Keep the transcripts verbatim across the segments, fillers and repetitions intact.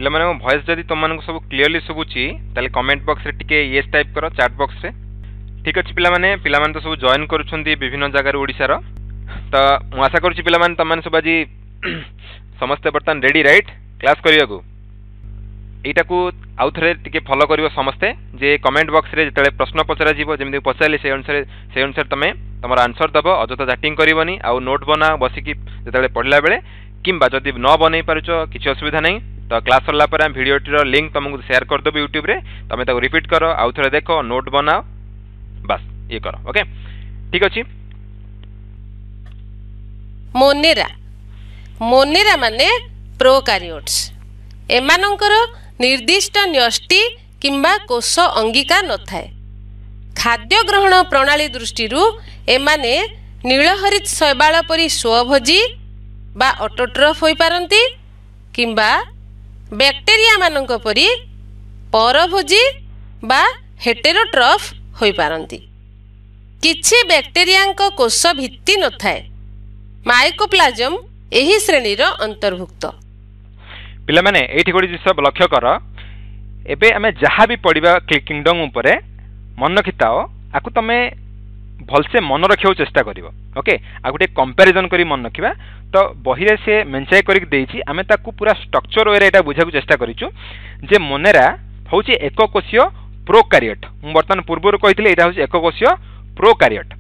ପିଲାମାନେ ମୋ ଭଏସ୍ ଯଦି ତୁମମାନଙ୍କୁ ସବୁ କ୍ଲିଅରଲି ଶୁଭୁଛି ତାହେଲେ କମେଣ୍ଟ ବକ୍ସରେ ଟିକେ ୟେସ୍ ଟାଇପ୍ କର ଚାଟ୍ ବକ୍ସରେ ଠିକ୍ ଅଛି ପିଲାମାନେ ପିଲାମାନେ ତ ସବୁ ଜଏନ୍ କରୁଛନ୍ତି ବିଭିନ୍ନ ଜାଗାରୁ ଓଡ଼ିଶାର ତ ମୁଁ ଆଶା କରୁଛି ପିଲାମାନେ ତୁମମାନେ ସବୁ ଆଜି ସମସ୍ତେ ବର୍ତ୍ତମାନ ରେଡ଼ି ରାଇଟ୍ କ୍ଲାସ୍ କରିବାକୁ ଏଇଟାକୁ ଆଉ ଥରେ ଟିକେ ଫଲୋ କରିବ ସମସ୍ତେ ଯେ କମେଣ୍ଟ ବକ୍ସରେ ଯେତେବେଳେ ପ୍ରଶ୍ନ ପଚରାଯିବ ଯେମିତି ପଚାରିଲେ ସେଇ ଅନୁସାରେ ସେଇ ଅନୁସାରେ ତୁମେ ତୁମର ଆନ୍ସର୍ ଦେବ ଅଯଥା ଚାଟିଂ କରିବନି ଆଉ ନୋଟ୍ ବନାଅ ବସିକି ଯେତେବେଳେ ପଢ଼ିଲା ବେଳେ କିମ୍ବା ଯଦି ନ ବନେଇ ପାରୁଛ କିଛି ଅସୁବିଧା ନାହିଁ ତ କ୍ଲାସ୍ ସରିଲା ପରେ ଆମେ ଭିଡ଼ିଓଟିର ଲିଙ୍କ୍ ତୁମକୁ ସେୟାର କରିଦେବୁ ୟୁଟ୍ୟୁବରେ ତୁମେ ତାକୁ ରିପିଟ୍ କର ଆଉ ଥରେ ଦେଖ ନୋଟ୍ ବନାଅ ବାସ୍ ଇଏ କର ଓକେ ଠିକ୍ ଅଛି ମୋନେରା ମୋନେରା ମାନେ ପ୍ରୋକାରିଓଟ୍ସ ଏମାନଙ୍କର ନିର୍ଦ୍ଦିଷ୍ଟ ନ୍ୟଷ୍ଟି କିମ୍ବା କୋଷ ଅଙ୍ଗିକା ନଥାଏ ଖାଦ୍ୟ ଗ୍ରହଣ ପ୍ରଣାଳୀ ଦୃଷ୍ଟିରୁ ଏମାନେ ନୀଳହରିତ ଶୈବାଳ ପରି ସ୍ୱଭୋଜୀ ବା ଅଟୋଟ୍ରଫ୍ ହୋଇପାରନ୍ତି କିମ୍ବା ବ୍ୟାକ୍ଟେରିଆମାନଙ୍କ ପରି ପରଭୋଜୀ ବା ହେଟେରୋଟ୍ରଫ୍ ହୋଇପାରନ୍ତି କିଛି ବ୍ୟାକ୍ଟେରିଆଙ୍କ କୋଷ ଭିତ୍ତି ନଥାଏ ମାଇକୋପ୍ଲାଜମ ଏହି ଶ୍ରେଣୀର ଅନ୍ତର୍ଭୁକ୍ତ ପିଲାମାନେ ଏଇଠି ଗୋଟେ ଜିନିଷ ଲକ୍ଷ୍ୟ କର ଏବେ ଆମେ ଯାହା ବି ପଢ଼ିବା କିଙ୍ଗଡମ୍ ଉପରେ ମନେ ରଖିଥାଅ ଆକୁ ତମେ ଭଲସେ ମନେ ରଖିବାକୁ ଚେଷ୍ଟା କରିବ ଓକେ ଆଉ ଗୋଟେ କମ୍ପାରିଜନ୍ କରି ମନେ ରଖିବା ତ ବହିରେ ସେ ମେଞ୍ଚାଇ କରିକି ଦେଇଛି ଆମେ ତାକୁ ପୁରା ଷ୍ଟ୍ରକ୍ଚର ୱେରେ ଏଇଟା ବୁଝିବାକୁ ଚେଷ୍ଟା କରିଛୁ ଯେ ମୋନେରା ହେଉଛି ଏକକୋଷୀୟ ପ୍ରୋକାରିୟଟ୍ ମୁଁ ବର୍ତ୍ତମାନ ପୂର୍ବରୁ କହିଥିଲି ଏଇଟା ହେଉଛି ଏକକୋଷୀୟ ପ୍ରୋକାରିୟଟ୍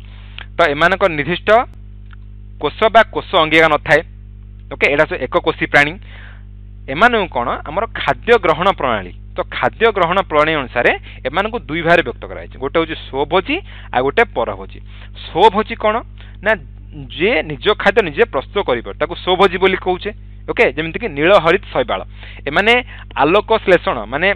ତ ଏମାନଙ୍କ ନିର୍ଦ୍ଦିଷ୍ଟ କୋଷ ବା କୋଷ ଅଙ୍ଗିକା ନଥାଏ ଓକେ ଏଇଟା ସବୁ ଏକକୋଷୀ ପ୍ରାଣୀ ଏମାନଙ୍କୁ କ'ଣ ଆମର ଖାଦ୍ୟ ଗ୍ରହଣ ପ୍ରଣାଳୀ ତ ଖାଦ୍ୟ ଗ୍ରହଣ ପ୍ରଣାଳୀ ଅନୁସାରେ ଏମାନଙ୍କୁ ଦୁଇ ଭାଗରେ ବ୍ୟକ୍ତ କରାଯାଇଛି ଗୋଟେ ହେଉଛି ସ୍ୱଭୋଜୀ ଆଉ ଗୋଟେ ପରଭୋଜୀ ସ୍ୱଭୋଜୀ କ'ଣ ନା ଯିଏ ନିଜ ଖାଦ୍ୟ ନିଜେ ପ୍ରସ୍ତୁତ କରିପାରେ ତାକୁ ସ୍ୱଭୋଜୀ ବୋଲି କହୁଛେ ଓକେ ଯେମିତିକି ନୀଳ ହରିତ ଶୈବାଳ ଏମାନେ ଆଲୋକ ଶ୍ଳେଷଣ ମାନେ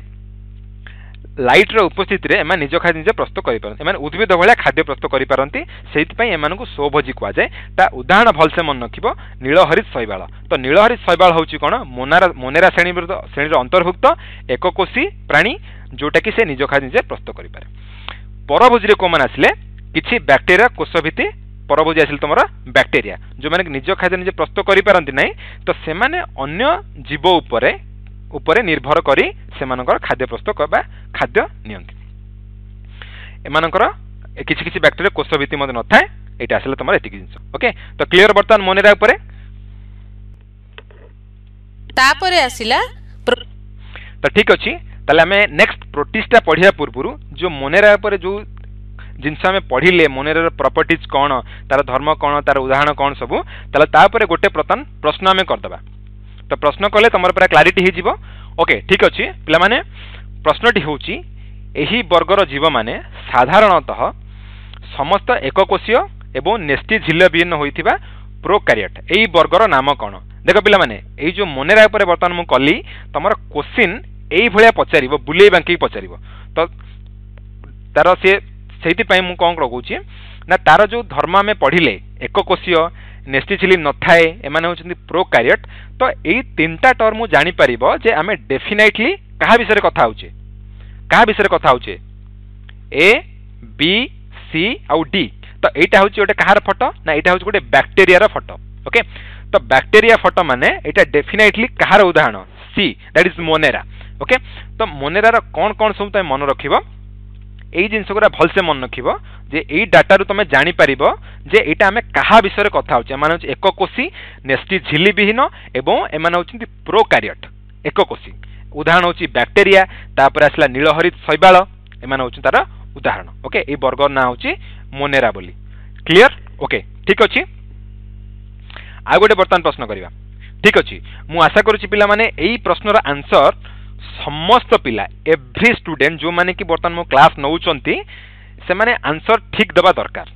ଲାଇଟ୍ର ଉପସ୍ଥିତିରେ ଏମାନେ ନିଜ ଖାଦ୍ୟ ନିଜେ ପ୍ରସ୍ତୁତ କରିପାରନ୍ତି ଏମାନେ ଉଦ୍ଭିଦ ଭଳିଆ ଖାଦ୍ୟ ପ୍ରସ୍ତୁତ କରିପାରନ୍ତି ସେଇଥିପାଇଁ ଏମାନଙ୍କୁ ସ୍ୱଭୋଜୀ କୁହାଯାଏ ତା ଉଦାହରଣ ଭଲସେ ମନେ ରଖିବ ନୀଳହରିତ ଶୈବାଳ ତ ନୀଳହରିତ ଶୈବାଳ ହେଉଛି କ'ଣ ମୋନାରା ମୋନେରା ଶ୍ରେଣୀର ଶ୍ରେଣୀର ଅନ୍ତର୍ଭୁକ୍ତ ଏକକୋଷୀ ପ୍ରାଣୀ ଯେଉଁଟାକି ସେ ନିଜ ଖାଦ୍ୟ ନିଜେ ପ୍ରସ୍ତୁତ କରିପାରେ ପରଭୋଜୀରେ କେଉଁମାନେ ଆସିଲେ କିଛି ବ୍ୟାକ୍ଟେରିଆ କୋଷଭିତ୍ତି ପରଭୋଜୀ ଆସିଲେ ତୁମର ବ୍ୟାକ୍ଟେରିଆ ଯେଉଁମାନେ କି ନିଜ ଖାଦ୍ୟ ନିଜେ ପ୍ରସ୍ତୁତ କରିପାରନ୍ତି ନାହିଁ ତ ସେମାନେ ଅନ୍ୟ ଜୀବ ଉପରେ ଉପରେ ନିର୍ଭର କରି ସେମାନଙ୍କର ଖାଦ୍ୟ ପ୍ରସ୍ତୁତ ବା ଖାଦ୍ୟ ନିଅନ୍ତି ଏମାନଙ୍କର କିଛି କିଛି ବ୍ୟାକ୍ଟେରିଆ କୋଷ ଭିତ୍ତି ମଧ୍ୟ ନଥାଏ ଏଇଟା ଆସିଲା ତୁମର ଏତିକି ଜିନିଷ ଓକେ ତ କ୍ଲିୟର ବର୍ତ୍ତମାନ ମୋନେରା ଉପରେ ତାପରେ ଆସିଲା ତ ଠିକ୍ ଅଛି ତାହେଲେ ଆମେ ନେକ୍ସଟ ପ୍ରୋଟିସ୍ଟା ପଢ଼ିବା ପୂର୍ବରୁ ଯେଉଁ ମୋନେରା ଉପରେ ଯେଉଁ ଜିନିଷ ଆମେ ପଢ଼ିଲେ ମୋନେରାର ପ୍ରପର୍ଟିଜ୍ କ'ଣ ତାର ଧର୍ମ କ'ଣ ତାର ଉଦାହରଣ କ'ଣ ସବୁ ତାହେଲେ ତାପରେ ଗୋଟେ ବର୍ତ୍ତମାନ ପ୍ରଶ୍ନ ଆମେ କରିଦେବା ତ ପ୍ରଶ୍ନ କଲେ ତୁମର ପୁରା କ୍ଲାରିଟି ହେଇଯିବ ଓକେ ଠିକ୍ ଅଛି ପିଲାମାନେ ପ୍ରଶ୍ନଟି ହେଉଛି ଏହି ବର୍ଗର ଜୀବମାନେ ସାଧାରଣତଃ ସମସ୍ତ ଏକକୋଷୀୟ ଏବଂ ନ୍ୟଷ୍ଟି ଝିଲ୍ଲୀବିହୀନ ହୋଇଥିବା ପ୍ରୋକାରିୟଟ୍ ଏଇ ବର୍ଗର ନାମ କ'ଣ ଦେଖ ପିଲାମାନେ ଏଇ ଯେଉଁ ମୋନେରା ଉପରେ ବର୍ତ୍ତମାନ ମୁଁ କଲି ତମର କୋଶ୍ଚିନ୍ ଏଇଭଳିଆ ପଚାରିବ ବୁଲେଇ ବାଙ୍କେଇ ପଚାରିବ ତ ତାର ସିଏ ସେଇଥିପାଇଁ ମୁଁ କ'ଣ ଲଗାଉଛି ନା ତାର ଯେଉଁ ଧର୍ମ ଆମେ ପଢ଼ିଲେ ଏକକୋଷୀୟ ନ୍ୟଷ୍ଟି ଝିଲ୍ଲୀ ନଥାଏ ଏମାନେ ହେଉଛନ୍ତି ପ୍ରୋକାରିୟଟ୍ ତ ଏଇ ତିନିଟା ଟର୍ମ ମୁଁ ଜାଣିପାରିବ ଯେ ଆମେ ଡେଫିନାଇଟଲି କାହା ବିଷୟରେ କଥା ହେଉଛେ କାହା ବିଷୟରେ କଥା ହେଉଛେ ଏ ବି ସି ଆଉ ଡି ତ ଏଇଟା ହେଉଛି ଗୋଟେ କାହାର ଫଟୋ ନା ଏଇଟା ହେଉଛି ଗୋଟେ ବ୍ୟାକ୍ଟେରିଆର ଫଟୋ ଓକେ ତ ବ୍ୟାକ୍ଟେରିଆ ଫଟୋ ମାନେ ଏଇଟା ଡେଫିନାଇଟଲି କାହାର ଉଦାହରଣ C that is Monera okay ତ ମୋନେରାର କ'ଣ କ'ଣ ସବୁ ତମେ ମନେ ରଖିବ ଏଇ ଜିନିଷ ଗୁଡ଼ା ଭଲସେ ମନେ ରଖିବ ଯେ ଏଇ ଡାଟାରୁ ତମେ ଜାଣିପାରିବ ଯେ ଏଇଟା ଆମେ କାହା ବିଷୟରେ କଥା ହେଉଛେ ଏମାନେ ହେଉଛି ଏକକୋଷୀ ନ୍ୟଷ୍ଟି ଝିଲ୍ଲୀ ବିହୀନ ଏବଂ ଏମାନେ ହେଉଛନ୍ତି ପ୍ରୋକାରିୟଟ୍ ଏକକୋଷୀ ଉଦାହରଣ ହେଉଛି ବ୍ୟାକ୍ଟେରିଆ ତାପରେ ଆସିଲା ନୀଳହରିତ ଶୈବାଳ ଏମାନେ ହେଉଛନ୍ତି ତାର ଉଦାହରଣ ଓକେ ଏଇ ବର୍ଗର ନାଁ ହେଉଛି ମୋନେରା ବୋଲି କ୍ଲିଅର ଓକେ ଠିକ୍ ଅଛି ଆଉ ଗୋଟେ ବର୍ତ୍ତମାନ ପ୍ରଶ୍ନ କରିବା ଠିକ୍ ଅଛି ମୁଁ ଆଶା କରୁଛି ପିଲାମାନେ ଏଇ ପ୍ରଶ୍ନର ଆନ୍ସର ସମସ୍ତ ପିଲା ଏଭ୍ରି ଷ୍ଟୁଡେଣ୍ଟ ଯେଉଁମାନେ କି ବର୍ତ୍ତମାନ ମୋ କ୍ଲାସ୍ ନେଉଛନ୍ତି ସେମାନେ ଆନ୍ସର ଠିକ୍ ଦେବା ଦରକାର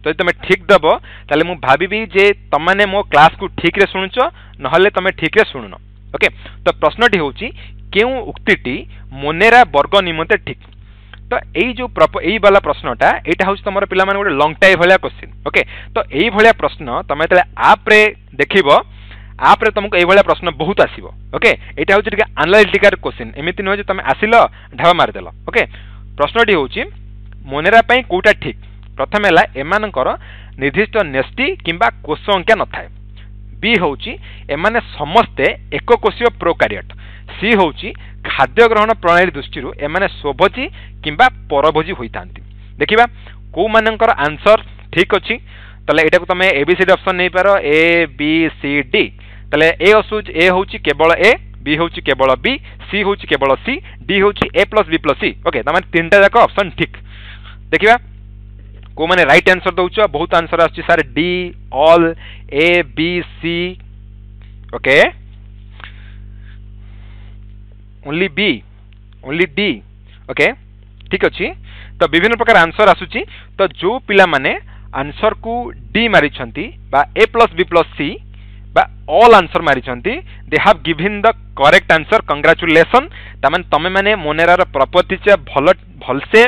ଯଦି ତୁମେ ଠିକ୍ ଦେବ ତାହେଲେ ମୁଁ ଭାବିବି ଯେ ତମମାନେ ମୋ କ୍ଲାସ୍କୁ ଠିକ୍ରେ ଶୁଣୁଛ ନହେଲେ ତମେ ଠିକ୍ରେ ଶୁଣୁନ ଓକେ ତ ପ୍ରଶ୍ନଟି ହେଉଛି କେଉଁ ଉକ୍ତିଟି ମୋନେରା ବର୍ଗ ନିମନ୍ତେ ଠିକ୍ ତ ଏଇ ଯେଉଁ ଏଇ ବାଲା ପ୍ରଶ୍ନଟା ଏଇଟା ହେଉଛି ତମର ପିଲାମାନେ ଗୋଟେ ଲଙ୍ଗ ଟାଇପ୍ ଭଳିଆ କୋଶ୍ଚିନ୍ ଓକେ ତ ଏଇଭଳିଆ ପ୍ରଶ୍ନ ତମେ ଯେତେବେଳେ ଆପ୍ରେ ଦେଖିବ ଆପ୍ରେ ତମକୁ ଏଇଭଳିଆ ପ୍ରଶ୍ନ ବହୁତ ଆସିବ ଓକେ ଏଇଟା ହେଉଛି ଟିକେ ଆନାଲିଟିକାଲ କୋଶ୍ଚିନ୍ ଏମିତି ନୁହେଁ ଯେ ତମେ ଆସିଲ ଢାବା ମାରିଦେଲ ଓକେ ପ୍ରଶ୍ନଟି ହେଉଛି ମୋନେରା ପାଇଁ କେଉଁଟା ଠିକ୍ ପ୍ରଥମେ ହେଲା ଏମାନଙ୍କର ନିର୍ଦ୍ଦିଷ୍ଟ ନ୍ୟଷ୍ଟି କିମ୍ବା କୋଷ ଅଙ୍କିଆ ନଥାଏ ବି ହେଉଛି ଏମାନେ ସମସ୍ତେ ଏକକୋଷୀୟ ପ୍ରୋକାରିୟଟ୍ ସି ହେଉଛି ଖାଦ୍ୟ ଗ୍ରହଣ ପ୍ରଣାଳୀ ଦୃଷ୍ଟିରୁ ଏମାନେ ସ୍ୱଭୋଜୀ କିମ୍ବା ପରଭୋଜୀ ହୋଇଥାନ୍ତି। ଦେଖିବା କେଉଁମାନଙ୍କର ଆନ୍ସର ଠିକ୍ ଅଛି। ତାହେଲେ ଏଇଟାକୁ ତମେ ଏ ବି ସି ଡି ଅପସନ୍ ନେଇପାର, ଏ ବି ସି ଡି। ତାହେଲେ ଏ ଆସୁଛି, ଏ ହେଉଛି କେବଳ ଏ, ବି ହେଉଛି କେବଳ ବି, ସି ହେଉଛି କେବଳ ସି, ଡି ହେଉଛି A plus B plus C. Okay, ତାମାନେ ତିନିଟା ଯାକ ଅପସନ୍ ଠିକ୍। ଦେଖିବା କେଉଁମାନେ ରାଇଟ୍ ଆନ୍ସର ଦେଉଛ। ବହୁତ ଆନ୍ସର ଆସୁଛି sir D, all, A, B, C. Okay, only B, only D. Okay, ଠିକ୍ ଅଛି। ତ ବିଭିନ୍ନ ପ୍ରକାର ଆନ୍ସର ଆସୁଛି। ତ ଯେଉଁ ପିଲାମାନେ ଆନ୍ସରକୁ ଡି ମାରିଛନ୍ତି ବା ଏ ପ୍ଲସ୍ ବି ପ୍ଲସ୍ ସି ବା ଅଲ୍ ଆନ୍ସର ମାରିଛନ୍ତି, they have given the correct answer, congratulation. ତାମାନେ ତମେ ମାନେ ମୋନେରାର ପ୍ରପର୍ଟିଟା ଭଲ ଭଲସେ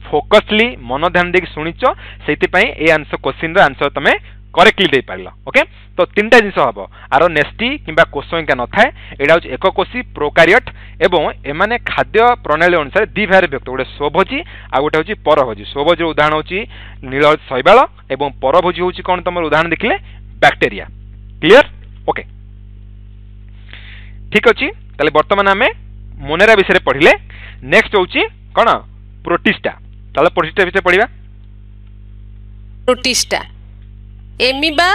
ଫୋକସଲି ମନ ଧ୍ୟାନ ଦେଇକି ଶୁଣିଛ, ସେଇଥିପାଇଁ ଏ ଆନ୍ସର କୋଶ୍ଚିନ୍ର ଆନ୍ସର ତମେ କରେକ୍ଟଲି ଦେଇପାରିଲ। ଓକେ, ତ ତିନିଟା ଜିନିଷ ହେବ, ଆର ନେଷ୍ଟି କିମ୍ବା କୋଷ ଅଙ୍କା ନଥାଏ, ଏଇଟା ହେଉଛି ଏକକୋଷୀ ପ୍ରୋକାରିୟଟ୍ ଏବଂ ଏମାନେ ଖାଦ୍ୟ ପ୍ରଣାଳୀ ଅନୁସାରେ ଦୁଇ ଭାଗରେ ବିଭକ୍ତ, ଗୋଟେ ସ୍ୱଭୋଜୀ ଆଉ ଗୋଟେ ହେଉଛି ପରଭୋଜୀ। ସ୍ୱଭୋଜୀର ଉଦାହରଣ ହେଉଛି ନୀଳ ଶୈବାଳ ଏବଂ ପରଭୋଜୀ ହେଉଛି କ'ଣ ତମର ଉଦାହରଣ ଦେଖିଲେ ବ୍ୟାକ୍ଟେରିଆ। କ୍ଲିୟର? ଓକେ, ଠିକ୍ ଅଛି। ତାହେଲେ ବର୍ତ୍ତମାନ ଆମେ ମୋନେରା ବିଷୟରେ ପଢ଼ିଲେ। ନେକ୍ସଟ ହେଉଛି କ'ଣ? ପ୍ରୋଟିଷ୍ଟା। ତାହେଲେ ପ୍ରୋଟିଷ୍ଟା ବିଷୟରେ ପଢ଼ିବା। ପ୍ରୋଟିଷ୍ଟା ଏମିବା,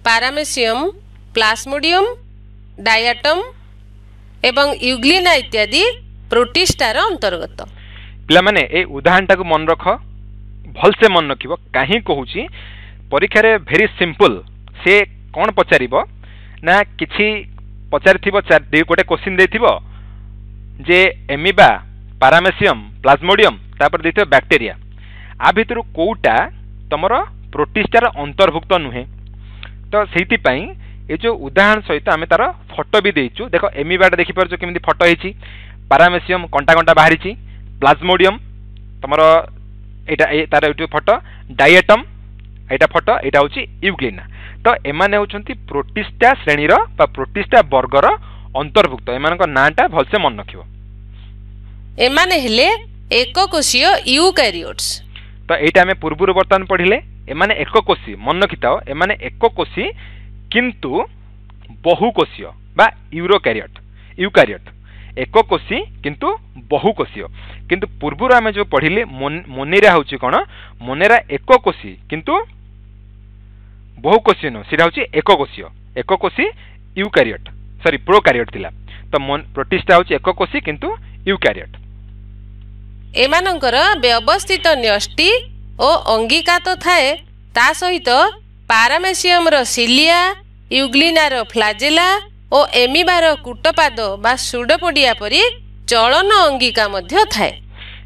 ପାରାମେସିୟମ୍, ପ୍ଲାସ୍ମୋଡିୟମ୍, ଡାୟାଟମ୍ ଏବଂ ୟୁଗ୍ଲିନା ଇତ୍ୟାଦି ପ୍ରୋଟିଷ୍ଟାର ଅନ୍ତର୍ଗତ। ପିଲାମାନେ, ଏଇ ଉଦାହରଣଟାକୁ ମନେ ରଖ, ଭଲସେ ମନେ ରଖିବ। କାହିଁ କହୁଛି, ପରୀକ୍ଷାରେ ଭେରି ସିମ୍ପଲ, ସେ କ'ଣ ପଚାରିବ ନା କିଛି ପଚାରିଥିବ, ଗୋଟେ କୋଶ୍ଚିନ୍ ଦେଇଥିବ ଯେ ଏମିବା, ପାରାମେସିୟମ୍, ପ୍ଲାଜମୋଡିୟମ୍, ତାପରେ ଦେଇଥିବ ବ୍ୟାକ୍ଟେରିଆ, ଆ ଭିତରୁ କେଉଁଟା ତମର ପ୍ରୋଟିଷ୍ଟାର ଅନ୍ତର୍ଭୁକ୍ତ ନୁହେଁ। ତ ସେଇଥିପାଇଁ ଏ ଯେଉଁ ଉଦାହରଣ ସହିତ ଆମେ ତାର ଫଟୋ ବି ଦେଇଛୁ। ଦେଖ, ଏମିବାଟା ଦେଖିପାରୁଛ କେମିତି ଫଟୋ ହେଇଛି, ପାରାମେସିୟମ୍ କଣ୍ଟା କଣ୍ଟା ବାହାରିଛି, ପ୍ଲାଜମୋଡିୟମ୍ ତମର ଏଇଟା ତାର ଏଇଠି ଫଟୋ, ଡାଇଏଟମ୍ ଏଇଟା ଫଟୋ, ଏଇଟା ହେଉଛି ୟୁଗ୍ଲିନା। ତ ଏମାନେ ହେଉଛନ୍ତି ପ୍ରୋଟିଷ୍ଟା ଶ୍ରେଣୀର ବା ପ୍ରୋଟିଷ୍ଟା ବର୍ଗର ଅନ୍ତର୍ଭୁକ୍ତ। ଏମାନଙ୍କ ନାଁଟା ଭଲସେ ମନେ ରଖିବ। ଏମାନେ ହେଲେ ଏକକୋଷୀୟ ୟୁକାରିଓଟ୍ସ। ତ ଏଇଟା ଆମେ ପୂର୍ବରୁ ବର୍ତ୍ତମାନ ପଢ଼ିଲେ, ଏମାନେ ଏକକୋଷୀ, ମନେ ରଖିଥାଅ, ଏମାନେ ଏକକୋଷୀ କିନ୍ତୁ ବହୁକୋଷୀୟ ବା ୟୁରୋକାରିଅଟ୍, ୟୁକାରିଅଟ୍ ଏକକୋଷୀ କିନ୍ତୁ ବହୁକୋଷୀୟ। କିନ୍ତୁ ପୂର୍ବରୁ ଆମେ ଯେଉଁ ପଢ଼ିଲେ ମୋନେରା ହେଉଛି କ'ଣ? ମୋନେରା ଏକକୋଷୀ କିନ୍ତୁ ବହୁକୋଷୀୟ ନୁହଁ, ସେଇଟା ହେଉଛି ଏକକୋଷୀୟ, ଏକକୋଷୀ ୟୁକାରିଅଟ୍, ସରି ପ୍ରୋକାରିଅଟ୍ ଥିଲା। ତ ପ୍ରୋଟିଷ୍ଟା ହେଉଛି ଏକକୋଷୀ କିନ୍ତୁ ୟୁକାରିଅଟ୍। ଏମାନଙ୍କର ବ୍ୟବସ୍ଥିତ ନ୍ୟଷ୍ଟି ଓ ଅଙ୍ଗିକା ତ ଥାଏ, ତା ସହିତ ପାରାମେସିୟମର ସିଲିଆ, ୟୁଗ୍ଲିନାର ଫ୍ଲାଜେଲା ଓ ଏମିବାର କୂଟପାଦ ବା ସୁଡୋପୋଡିଆ ପରି ଚଳନ ଅଙ୍ଗିକା ମଧ୍ୟ ଥାଏ।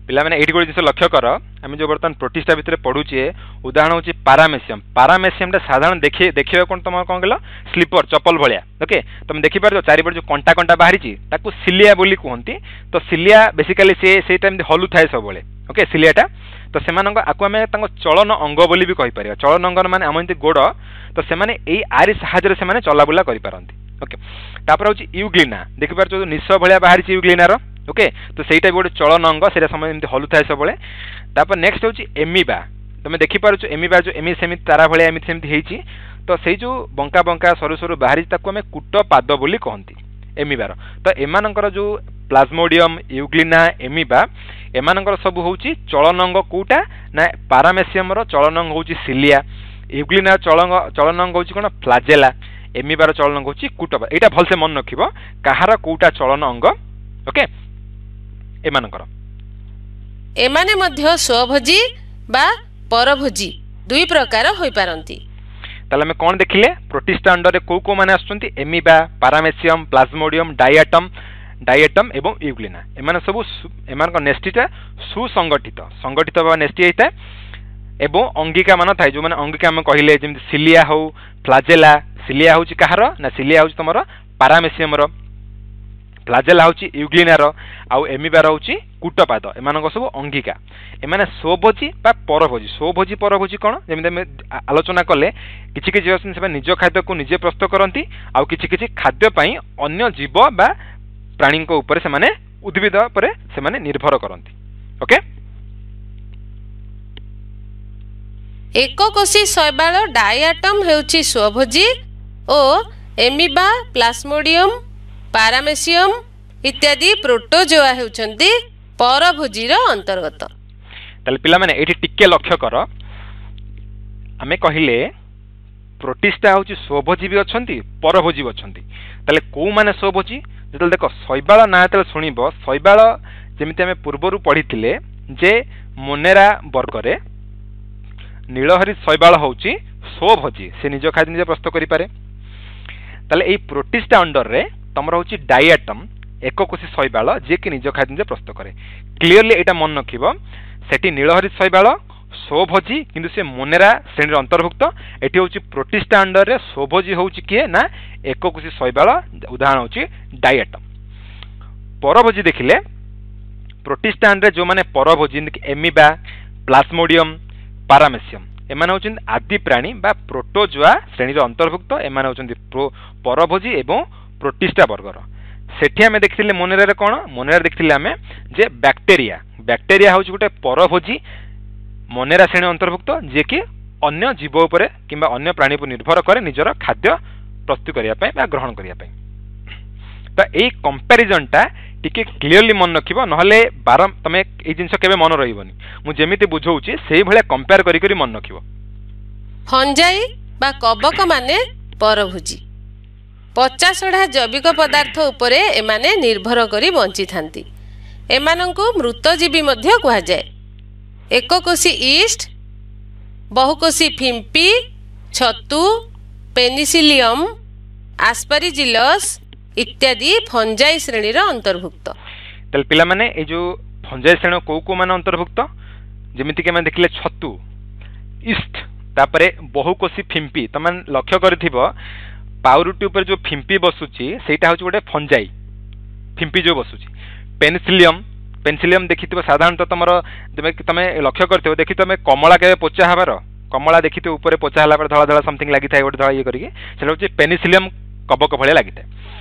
ପିଲାମାନେ, ଏଇଠି ଗୋଟେ ଜିନିଷ ଲକ୍ଷ୍ୟ କର, ଆମେ ଯେଉଁ ବର୍ତ୍ତମାନ ପ୍ରୋଟିଷ୍ଟା ଭିତରେ ପଢୁଛେ, ଉଦାହରଣ ହେଉଛି ପାରାମେସିୟମ୍। ପାରାମେସିୟମଟା ସାଧାରଣ ଦେଖି ଦେଖିବାକୁ କ'ଣ ତମର କ'ଣ କହିଲ, ସ୍ଲିପର ଚପଲ ଭଳିଆ। ଓକେ, ତମେ ଦେଖିପାରୁଛ ଚାରିପଟେ ଯେଉଁ କଣ୍ଟା କଣ୍ଟା ବାହାରିଛି, ତାକୁ ସିଲିଆ ବୋଲି କୁହନ୍ତି। ତ ସିଲିଆ ବେସିକାଲି ସେ ସେଇଟା ଏମିତି ହଲୁଥାଏ ସବୁବେଳେ। ଓକେ, ସିଲିଆଟା ତ ସେମାନଙ୍କ ଆକୁ ଆମେ ତାଙ୍କ ଚଳନ ଅଙ୍ଗ ବୋଲି ବି କହିପାରିବା। ଚଳନ ଅଙ୍ଗ ମାନେ ଆମ ଏମିତି ଗୋଡ଼, ତ ସେମାନେ ଏଇ ଆରି ସାହାଯ୍ୟରେ ସେମାନେ ଚଲାବୁଲା କରିପାରନ୍ତି। ଓକେ, ତାପରେ ହେଉଛି ୟୁଗ୍ଲିନା। ଦେଖିପାରୁଛ ଯେଉଁ ନିଶ ଭଳିଆ ବାହାରିଛି ୟୁଗ୍ଲିନାର। ଓକେ, ତ ସେଇଟା ବି ଗୋଟେ ଚଳନ ଅଙ୍ଗ, ସେଇଟା ସମୟ ଏମିତି ହଲୁଥାଏ ସବୁବେଳେ। ତାପରେ ନେକ୍ସଟ ହେଉଛି ଏମିବା। ତମେ ଦେଖିପାରୁଛ ଏମିବା ଯେଉଁ ଏମିତି ସେମିତି ତାରା ଭଳିଆ ଏମିତି ସେମିତି ହେଇଛି, ତ ସେଇ ଯେଉଁ ବଙ୍କା ବଙ୍କା ସରୁ ସରୁ ବାହାରିଛି ତାକୁ ଆମେ କୂଟ ପାଦ ବୋଲି କହନ୍ତି ଏମିବାର। ତ ଏମାନଙ୍କର ଯେଉଁ ପ୍ଲାଜମୋଡିୟମ୍, ୟୁଗ୍ଲିନା, ଏମିବା, ଏମାନଙ୍କର ସବୁ ହେଉଛି ଚଳନ ଅଙ୍ଗ କେଉଁଟା ନା ପାରାମେସିୟମର ଚଳନ ଅଙ୍ଗ ହେଉଛି ସିଲିଆ, ୟୁଗ୍ଲିନା ଚଳନ ଚଳନ ଅଙ୍ଗ ହେଉଛି କ'ଣ ଫ୍ଲାଜେଲା, ଏମିବାର ଚଳନ ଅଙ୍ଗ ହେଉଛି କୂଟପାଦ। ଏଇଟା ଭଲସେ ମନେ ରଖିବ କାହାର କେଉଁଟା ଚଳନ ଅଙ୍ଗ। ଓକେ, ଏମାନଙ୍କର ଏମାନେ ମଧ୍ୟ ସ୍ୱଭୋଜୀ ବା ପରଭୋଜୀ ଦୁଇ ପ୍ରକାର ହୋଇପାରନ୍ତି। ତାହେଲେ ଆମେ କ'ଣ ଦେଖିଲେ? ପ୍ରୋଟିଷ୍ଟା ଅଣ୍ଡରରେ କେଉଁ କେଉଁ ମାନେ ଆସୁଛନ୍ତି? ଏମିବା, ପାରାମେସିୟମ୍, ପ୍ଲାଜମୋଡିୟମ୍, ଡାଇଆଟମ୍ ଡାଇଆଟମ୍ ଏବଂ ୟୁଗ୍ଲିନା। ଏମାନେ ସବୁ ଏମାନଙ୍କ ନେଷ୍ଟିଟା ସୁସଂଗଠିତ, ସଂଗଠିତ ବା ନେଷ୍ଟି ହେଇଥାଏ ଏବଂ ଅଙ୍ଗିକା ମାନ ଥାଏ। ଯେଉଁମାନେ ଅଙ୍ଗିକା ଆମେ କହିଲେ ଯେମିତି ସିଲିଆ ହଉ, ଫ୍ଲାଜେଲା। ସିଲିଆ ହେଉଛି କାହାର ନା ସିଲିଆ ହେଉଛି ତମର ପାରାମେସିୟମର, ଫ୍ଲାଜେଲା ହେଉଛି ୟୁଗ୍ଲିନାର, ଆଉ ଏମିବାର ହେଉଛି କୂଟପାଦ। ଏମାନଙ୍କ ସବୁ ଅଙ୍ଗିକା। ଏମାନେ ସ୍ୱଭୋଜୀ ବା ପରଭୋଜୀ। ସ୍ୱଭୋଜୀ ପରଭୋଜୀ କ'ଣ ଯେମିତି ଆମେ ଆଲୋଚନା କଲେ, କିଛି କିଛି ଅଛନ୍ତି ସେମାନେ ନିଜ ଖାଦ୍ୟକୁ ନିଜେ ପ୍ରସ୍ତୁତ କରନ୍ତି, ଆଉ କିଛି କିଛି ଖାଦ୍ୟ ପାଇଁ ଅନ୍ୟ ଜୀବ ବା ପ୍ରାଣୀଙ୍କ ଉପରେ ସେମାନେ, ଉଦ୍ଭିଦ ଉପରେ ସେମାନେ ନିର୍ଭର କରନ୍ତି। ଓକେ, ଏକକୋଷୀ ଶୈବାଳ ଡାଇଆଟମ୍ ହେଉଛି ସ୍ୱଭୋଜୀ ଓ ଏମିବା, ପ୍ଲାସ୍ମୋଡିୟମ୍, ପାରାମେସିୟମ୍, ଇତ୍ୟାଦି ପ୍ରୋଟୋଜୋଆ ହେଉଛନ୍ତି ପରଭୋଜୀର ଅନ୍ତର୍ଗତ। ତାହେଲେ ପିଲାମାନେ, ଏଇଠି ଟିକେ ଲକ୍ଷ୍ୟ କର। ଆମେ କହିଲେ ପ୍ରୋଟିଷ୍ଟା ହେଉଛି ସ୍ୱଭୋଜୀ ବି ଅଛନ୍ତି, ପରଭୋଜୀ ବି ଅଛନ୍ତି। ତାହେଲେ କେଉଁମାନେ ସ୍ୱଭୋଜୀ? ଯେତେବେଳେ ଦେଖ, ଶୈବାଳ ନାଁ ଯେତେବେଳେ ଶୁଣିବ, ଶୈବାଳ ଯେମିତି ଆମେ ପୂର୍ବରୁ ପଢ଼ିଥିଲେ ଯେ ମୋନେରା ବର୍ଗରେ ନୀଳହରି ଶୈବାଳ ହେଉଛି ସ୍ୱଭୋଜୀ, ସେ ନିଜ ଖାଦ୍ୟ ନିଜେ ପ୍ରସ୍ତୁତ କରିପାରେ। ତାହେଲେ ଏଇ ପ୍ରୋଟିଷ୍ଟା ଅଣ୍ଡରରେ ତମର ହେଉଛି ଡାଇଆଟମ୍, ଏକକୋଷୀ ଶୈବାଳ, ଯିଏକି ନିଜ ଖାଦ୍ୟ ନିଜେ ପ୍ରସ୍ତୁତ କରେ। କ୍ଲିଅରଲି ଏଇଟା ମନେ ରଖିବ। ସେଠି ନୀଳହରି ଶୈବାଳ ସ୍ୱଭୋଜୀ, କିନ୍ତୁ ସେ ମୋନେରା ଶ୍ରେଣୀର ଅନ୍ତର୍ଭୁକ୍ତ। ଏଠି ହେଉଛି ପ୍ରୋଟିଷ୍ଟା ଅଣ୍ଡରରେ ସ୍ୱଭୋଜୀ ହେଉଛି କିଏ ନା ଏକକୋଷୀ ଶୈବାଳ, ଉଦାହରଣ ହେଉଛି ଡାଇଆଟମ୍। ପରଭୋଜୀ ଦେଖିଲେ ପ୍ରୋଟିଷ୍ଟା ଅଣ୍ଡରରେ ଯେଉଁମାନେ ପରଭୋଜୀ, ଯେମିତିକି ଏମିବା, ପ୍ଲାସ୍ମୋଡିୟମ୍, ପାରାମେସିୟମ୍, ଏମାନେ ହେଉଛନ୍ତି ଆଦି ପ୍ରାଣୀ ବା ପ୍ରୋଟୋଜୋଆ ଶ୍ରେଣୀର ଅନ୍ତର୍ଭୁକ୍ତ। ଏମାନେ ହେଉଛନ୍ତି ପରଭୋଜୀ ଏବଂ ପ୍ରୋଟିଷ୍ଟା ବର୍ଗର। ସେଠି ଆମେ ଦେଖିଥିଲେ ମୋନେରାରେ କ'ଣ? ମୋନେରାରେ ଦେଖିଥିଲେ ଆମେ ଯେ ବ୍ୟାକ୍ଟେରିଆ, ବ୍ୟାକ୍ଟେରିଆ ହେଉଛି ଗୋଟେ ପରଭୋଜୀ, ମୋନେରା ଶ୍ରେଣୀ ଅନ୍ତର୍ଭୁକ୍ତ, ଯିଏକି ଅନ୍ୟ ଜୀବ ଉପରେ କିମ୍ବା ଅନ୍ୟ ପ୍ରାଣୀ ଉପରେ ନିର୍ଭର କରେ ନିଜର ଖାଦ୍ୟ ପ୍ରସ୍ତୁତ କରିବା ପାଇଁ ବା ଗ୍ରହଣ କରିବା ପାଇଁ। ତ ଏଇ କମ୍ପାରିଜନଟା ଟିକେ କ୍ଲିଅରଲି ମନେ ରଖିବ, ନହେଲେ ବାର ତମେ ଏଇ ଜିନିଷ କେବେ ମନେ ରହିବନି। ମୁଁ ଯେମିତି ବୁଝଉଛି ସେଇଭଳିଆ କମ୍ପେୟାର କରି କରି ମନେ ରଖିବ। ଫଞ୍ଜାଇ ବା କବକ ମାନେ ପରଭୋଜୀ। ପଚାସଢ଼ା ଜୈବିକ ପଦାର୍ଥ ଉପରେ ଏମାନେ ନିର୍ଭର କରି ବଞ୍ଚିଥାନ୍ତି। ଏମାନଙ୍କୁ ମୃତଜୀବୀ ମଧ୍ୟ କୁହାଯାଏ। ଏକକୋଷୀ ଇଷ୍ଟ, ବହୁକୋଷୀ ଫିମ୍ପି, ଛତୁ, ପେନିସିଲିୟମ୍, ଆସ୍ପାରିଜିଲସ୍ ଇତ୍ୟାଦି ଫଞ୍ଜାଇ ଶ୍ରେଣୀର ଅନ୍ତର୍ଭୁକ୍ତ। ତାହେଲେ ପିଲାମାନେ, ଏଇ ଯେଉଁ ଫଞ୍ଜାଇ ଶ୍ରେଣୀ କେଉଁ କେଉଁମାନେ ଅନ୍ତର୍ଭୁକ୍ତ? ଯେମିତିକି ଆମେ ଦେଖିଲେ ଛତୁ, ଇଷ୍ଟ, ତାପରେ ବହୁକୋଷୀ ଫିମ୍ପି। ତମେ ଲକ୍ଷ୍ୟ କରିଥିବ, ପାଉରୁଟି ଉପରେ ଯେଉଁ ଫିମ୍ପି ବସୁଛି ସେଇଟା ହେଉଛି ଗୋଟେ ଫଞ୍ଜାଇ, ଫିମ୍ପି ଯେଉଁ ବସୁଛି। ପେନିସିଲିୟମ୍, ପେନିସିଲିୟମ୍ ଦେଖିଥିବ ସାଧାରଣତଃ ତମର, ତମେ ଲକ୍ଷ୍ୟ କରିଥିବ, ଦେଖି ତମେ କମଳା କେବେ ପୋଚା ହେବାର, କମଳା ଦେଖିଥିବ ଉପରେ ପୋଚା ହେଲା ପରେ ଧଳା ଧଳା ସମଥିଙ୍ଗ ଲାଗିଥାଏ ଗୋଟେ ଧଳା ଇଏ କରିକି, ସେଟା ହେଉଛି ପେନିସିଲିୟମ୍ କବକ ଭଳିଆ ଲାଗିଥାଏ।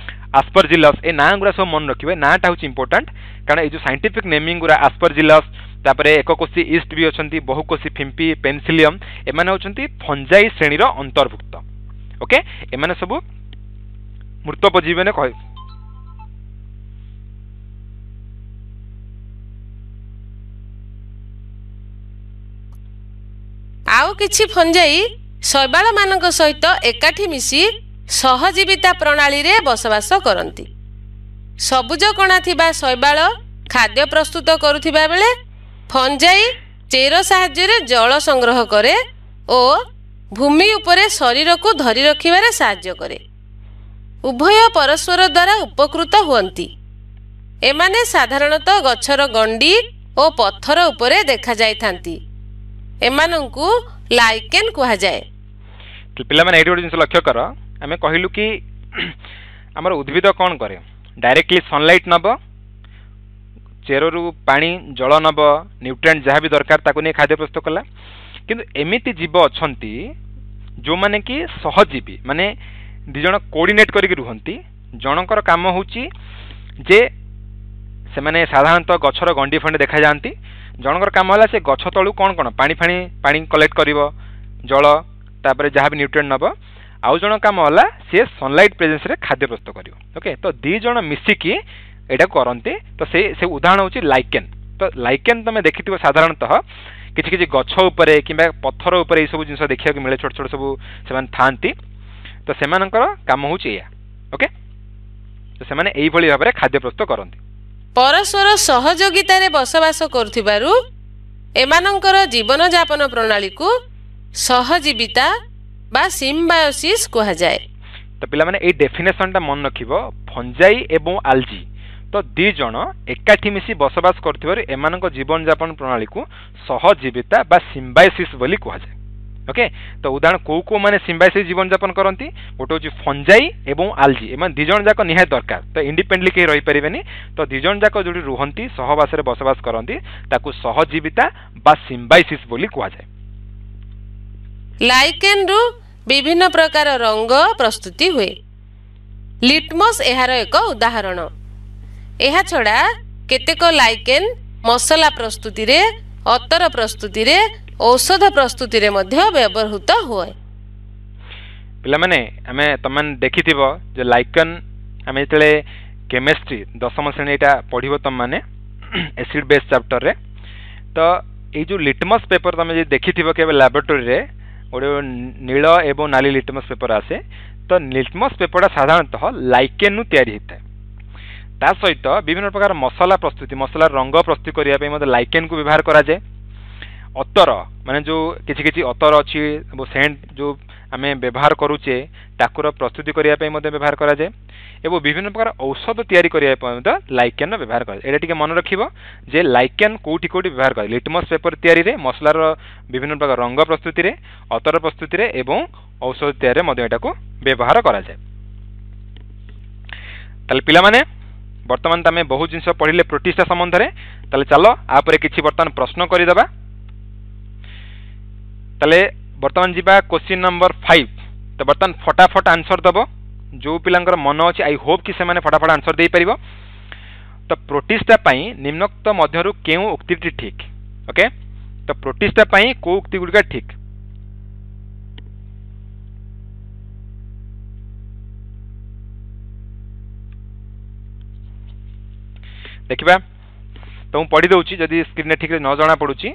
ଆସ୍ପରଜିଲସ୍, ଏ ନାଁ ଗୁଡ଼ା ସବୁ ମନେ ରଖିବେ। ନାଁଟା ହେଉଛି ଇମ୍ପୋର୍ଟାଣ୍ଟ, କାରଣ ଏଇ ଯେଉଁ ସାଇଣ୍ଟିଫିକ୍ ନେମିଂ ଗୁଡ଼ା, ଆସ୍ପରଜିଲସ୍, ତାପରେ ଏକକୋଷୀ ଇଷ୍ଟ ବି ଅଛନ୍ତି, ବହୁକୋଷୀ ଫିମ୍ପି, ପେନିସିଲିୟମ୍, ଏମାନେ ହେଉଛନ୍ତି ଫଞ୍ଜାଇ ଶ୍ରେଣୀର ଅନ୍ତର୍ଭୁକ୍ତ। ଓକେ, ଏମାନେ ସବୁ ମୃତୋପଜୀବୀ ମାନେ କହ ଆଉ କିଛି ଫଞ୍ଜାଇ ଶୈବାଳମାନଙ୍କ ସହିତ ଏକାଠି ମିଶି ସହଜୀବିତା ପ୍ରଣାଳୀରେ ବସବାସ କରନ୍ତି। ସବୁଜ କଣା ଥିବା ଶୈବାଳ ଖାଦ୍ୟ ପ୍ରସ୍ତୁତ କରୁଥିବା ବେଳେ ଫଞ୍ଜାଇ ଚେର ସାହାଯ୍ୟରେ ଜଳ ସଂଗ୍ରହ କରେ ଓ ଭୂମି ଉପରେ ଶରୀରକୁ ଧରି ରଖିବାରେ ସାହାଯ୍ୟ କରେ। ଉଭୟ ପରସ୍ପର ଦ୍ୱାରା ଉପକୃତ ହୁଅନ୍ତି। ଏମାନେ ସାଧାରଣତଃ ଗଛର ଗଣ୍ଡି ଓ ପଥର ଉପରେ ଦେଖାଯାଇଥାନ୍ତି। ଏମାନଙ୍କୁ ଲାଇକେନ୍ କୁହାଯାଏ। ପିଲାମାନେ, ଏଇଠି ଗୋଟେ ଜିନିଷ ଲକ୍ଷ୍ୟ କର। ଆମେ କହିଲୁ କି ଆମର ଉଦ୍ଭିଦ କ'ଣ କରେ? ଡାଇରେକ୍ଟଲି ସନଲାଇଟ୍ ନେବ, ଚେରରୁ ପାଣି ଜଳ ନେବ, ନ୍ୟୁଟ୍ରିଏଣ୍ଟ ଯାହା ବି ଦରକାର ତାକୁ ନେଇ ଖାଦ୍ୟ ପ୍ରସ୍ତୁତ କଲା। କିନ୍ତୁ ଏମିତି ଜୀବ ଅଛନ୍ତି ଯେଉଁମାନେ କି ସହଜୀବୀ, ମାନେ ଦୁଇ ଜଣ କୋଅର୍ଡିନେଟ୍ କରିକି ରୁହନ୍ତି। ଜଣଙ୍କର କାମ ହେଉଛି ଯେ ସେମାନେ ସାଧାରଣତଃ ଗଛର ଗଣ୍ଡି ଫଣ୍ଡି ଦେଖାଯାଆନ୍ତି। ଜଣଙ୍କର କାମ ହେଲା ସେ ଗଛ ତଳୁ କ'ଣ କ'ଣ ପାଣି ଫାଣି ପାଣି କଲେକ୍ଟ କରିବ, ଜଳ, ତାପରେ ଯାହା ବି ନ୍ୟୁଟ୍ରିଏଣ୍ଟ ନେବ। ଆଉ ଜଣ କାମ ହେଲା ସିଏ ସନଲାଇଟ୍ ପ୍ରେଜେନ୍ସରେ ଖାଦ୍ୟ ପ୍ରସ୍ତୁତ କରିବ। ଓକେ, ତ ଦୁଇ ଜଣ ମିଶିକି ଏଇଟାକୁ କରନ୍ତି। ତ ସେ ସେ ଉଦାହରଣ ହେଉଛି ଲାଇକେନ୍। ତ ଲାଇକେନ୍ ତମେ ଦେଖିଥିବ, ସାଧାରଣତଃ କିଛି କିଛି ଗଛ ଉପରେ କିମ୍ବା ପଥର ଉପରେ ଏଇସବୁ ଜିନିଷ ଦେଖିବାକୁ ମିଳେ, ଛୋଟ ଛୋଟ ସବୁ ସେମାନେ ଥାଆନ୍ତି। ତ ସେମାନଙ୍କର କାମ ହେଉଛି ଏଇଆ। ଓକେ, ତ ସେମାନେ ଏଇଭଳି ଭାବରେ ଖାଦ୍ୟ ପ୍ରସ୍ତୁତ କରନ୍ତି। ପରସ୍ପର ସହଯୋଗିତାରେ ବସବାସ କରୁଥିବାରୁ ଏମାନଙ୍କର ଜୀବନଯାପନ ପ୍ରଣାଳୀକୁ ସହଜୀବିତା ବା ସିମ୍ବାયોସିସ୍ କୁହାଯାଏ। ତ ପିଲାମାନେ, ଏଇ ଡେଫିନେସନଟା ମନେ ରଖିବ। ଫଞ୍ଜାଇ ଏବଂ ଆଲଜି ତ ଦୁଇ ଜଣ ଏକାଠି ମିଶି ବସବାସ କରୁଥିବାରୁ ଏମାନଙ୍କ ଜୀବନଯାପନ ପ୍ରଣାଳୀକୁ ସହଜୀବିତା ବା ସିମ୍ବାયોସିସ୍ ବୋଲି କୁହାଯାଏ। ଓକେ, ତ ଉଦାହରଣ କେଉଁ କେଉଁମାନେ ସିମ୍ବାયોସିସ୍ ଜୀବନଯାପନ କରନ୍ତି? ଗୋଟେ ହେଉଛି ଫଞ୍ଜାଇ ଏବଂ ଆଲଜି। ଏମାନେ ଦୁଇ ଜଣ ଯାକ ନିହାତି ଦରକାର, ତ ଇଣ୍ଡିପେଣ୍ଡେଣ୍ଟଲି କେହି ରହିପାରିବେନି। ତ ଦୁଇ ଜଣ ଯାକ ଯେଉଁଠି ରୁହନ୍ତି, ସହବାସରେ ବସବାସ କରନ୍ତି, ତାକୁ ସହଜୀବିତା ବା ସିମ୍ବାયોସିସ୍ ବୋଲି କୁହାଯାଏ। ଲାଇକେନ୍ରୁ ବିଭିନ୍ନ ପ୍ରକାର ରଙ୍ଗ ପ୍ରସ୍ତୁତି ହୁଏ। ଲିଟମସ୍ ଏହାର ଏକ ଉଦାହରଣ। ଏହାଛଡ଼ା କେତେକ ଲାଇକେନ୍ ମସଲା ପ୍ରସ୍ତୁତିରେ, ଅତର ପ୍ରସ୍ତୁତିରେ, ଔଷଧ ପ୍ରସ୍ତୁତିରେ ମଧ୍ୟ ବ୍ୟବହୃତ ହୁଏ। ପିଲାମାନେ, ଆମେ ତମେ ଦେଖିଥିବ ଯେ ଲାଇକନ୍ ଆମେ ଯେତେବେଳେ କେମିଷ୍ଟ୍ରି ଦଶମ ଶ୍ରେଣୀ ଏଇଟା ପଢ଼ିବ ତୁମମାନେ ଏସିଡ୍ ବେସ୍ ଚାପ୍ଟରରେ। ତ ଏଇ ଯେଉଁ ଲିଟମସ୍ ପେପର ତୁମେ ଯଦି ଦେଖିଥିବ କେବେ ଲାବୋରେଟୋରୀରେ, ଗୋଟେ ନୀଳ ଏବଂ ନାଲି ଲିଟମସ୍ ପେପର ଆସେ। ତ ଲିଟମସ୍ ପେପରଟା ସାଧାରଣତଃ ଲାଇକେନ୍ରୁ ତିଆରି ହେଇଥାଏ। ତା ସହିତ ବିଭିନ୍ନ ପ୍ରକାର ମସଲା ପ୍ରସ୍ତୁତି, ମସଲାର ରଙ୍ଗ ପ୍ରସ୍ତୁତି କରିବା ପାଇଁ ମଧ୍ୟ ଲାଇକେନ୍କୁ ବ୍ୟବହାର କରାଯାଏ। ଅତର ମାନେ ଯେଉଁ କିଛି କିଛି ଅତର ଅଛି, ସେଣ୍ଟ ଯେଉଁ ଆମେ ବ୍ୟବହାର କରୁଛେ, ତାକୁର ପ୍ରସ୍ତୁତି କରିବା ପାଇଁ ମଧ୍ୟ ବ୍ୟବହାର କରାଯାଏ ଏବଂ ବିଭିନ୍ନ ପ୍ରକାର ଔଷଧ ତିଆରି କରିବା ପାଇଁ ମଧ୍ୟ ଲାଇକେନ୍ର ବ୍ୟବହାର କରାଯାଏ। ଏଇଟା ଟିକେ ମନେ ରଖିବ ଯେ ଲାଇକେନ୍ କେଉଁଠି କେଉଁଠି ବ୍ୟବହାର କରାଯାଏ। ଲିଟମସ୍ ପେପର ତିଆରିରେ, ମସଲାର ବିଭିନ୍ନ ପ୍ରକାର ରଙ୍ଗ ପ୍ରସ୍ତୁତିରେ, ଅତର ପ୍ରସ୍ତୁତିରେ ଏବଂ ଔଷଧ ତିଆରିରେ ମଧ୍ୟ ଏଟାକୁ ବ୍ୟବହାର କରାଯାଏ। ତାହେଲେ ପିଲାମାନେ, ବର୍ତ୍ତମାନ ତ ଆମେ ବହୁତ ଜିନିଷ ପଢ଼ିଲେ ପ୍ରୋଟିଷ୍ଟା ସମ୍ବନ୍ଧରେ। ତାହେଲେ ଚାଲ ଆ ପରେ କିଛି ବର୍ତ୍ତମାନ ପ୍ରଶ୍ନ କରିଦେବା। ତାହେଲେ ବର୍ତ୍ତମାନ ଯିବା କ୍ୱେଶ୍ଚିନ୍ ନମ୍ବର ଫାଇଭ୍। ତ ବର୍ତ୍ତମାନ ଫଟାଫଟ ଆନ୍ସର ଦେବ ଯେଉଁ ପିଲାଙ୍କର ମନ ଅଛି। I Hope କି ସେମାନେ ଫଟାଫଟ ଆନ୍ସର ଦେଇପାରିବ। ତ ପ୍ରୋଟିଷ୍ଟା ପାଇଁ ନିମ୍ନୋକ୍ତ ମଧ୍ୟରୁ କେଉଁ ଉକ୍ତିଟି ଠିକ୍? ଓକେ, ତ ପ୍ରୋଟିଷ୍ଟା ପାଇଁ କେଉଁ ଉକ୍ତି ଗୁଡ଼ିକ ଠିକ୍? ଦେଖିବା। ତ ମୁଁ ପଢ଼ି ଦେଉଛି, ଯଦି ସ୍କ୍ରିନ୍ରେ ଠିକ୍ରେ ନ ଜଣା ପଡ଼ୁଛି।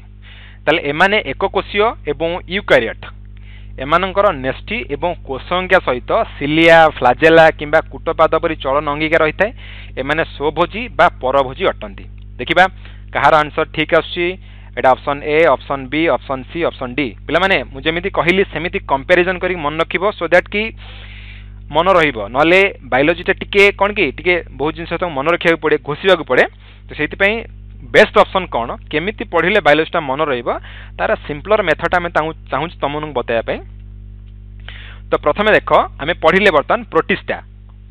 ତାହେଲେ ଏମାନେ ଏକକୋଷୀୟ ଏବଂ ୟୁକାରିୟଟ୍। ଏମାନଙ୍କର ନ୍ୟଷ୍ଟି ଏବଂ କୋଷଅଙ୍ଗିକା ସହିତ ସିଲିଆ, ଫ୍ଲାଜେଲା କିମ୍ବା କୁଟପାଦ ପରି ଚଳନ ଅଙ୍ଗିକା ରହିଥାଏ। ଏମାନେ ସ୍ୱଭୋଜୀ ବା ପରଭୋଜୀ ଅଟନ୍ତି। ଦେଖିବା କାହାର ଆନ୍ସର ଠିକ୍ ଆସୁଛି। ଏଇଟା option A, option B, option C, option D. ପିଲାମାନେ, ମୁଁ ଯେମିତି କହିଲି ସେମିତି କମ୍ପାରିଜନ୍ କରିକି ମନେ ରଖିବ, ସୋ that କି ମନ ରହିବ। ନହେଲେ ବାୟୋଲୋଜିଟା ଟିକେ କ'ଣ କି ଟିକେ ବହୁତ ଜିନିଷ ତାକୁ ମନେ ରଖିବାକୁ ପଡ଼େ, ଘୋଷିବାକୁ ପଡ଼େ। ତ ସେଇଥିପାଇଁ ବେଷ୍ଟ ଅପସନ୍ କ'ଣ, କେମିତି ପଢ଼ିଲେ ବାୟୋଲୋଜିଟା ମନେ ରହିବ, ତାର ସିମ୍ପଲର ମେଥଡ଼ଟା ଆମେ ତାଙ୍କୁ ଚାହୁଁଛୁ ତମମାନଙ୍କୁ ବତାଇବା ପାଇଁ। ତ ପ୍ରଥମେ ଦେଖ, ଆମେ ପଢ଼ିଲେ ବର୍ତ୍ତମାନ ପ୍ରୋଟିଷ୍ଟା।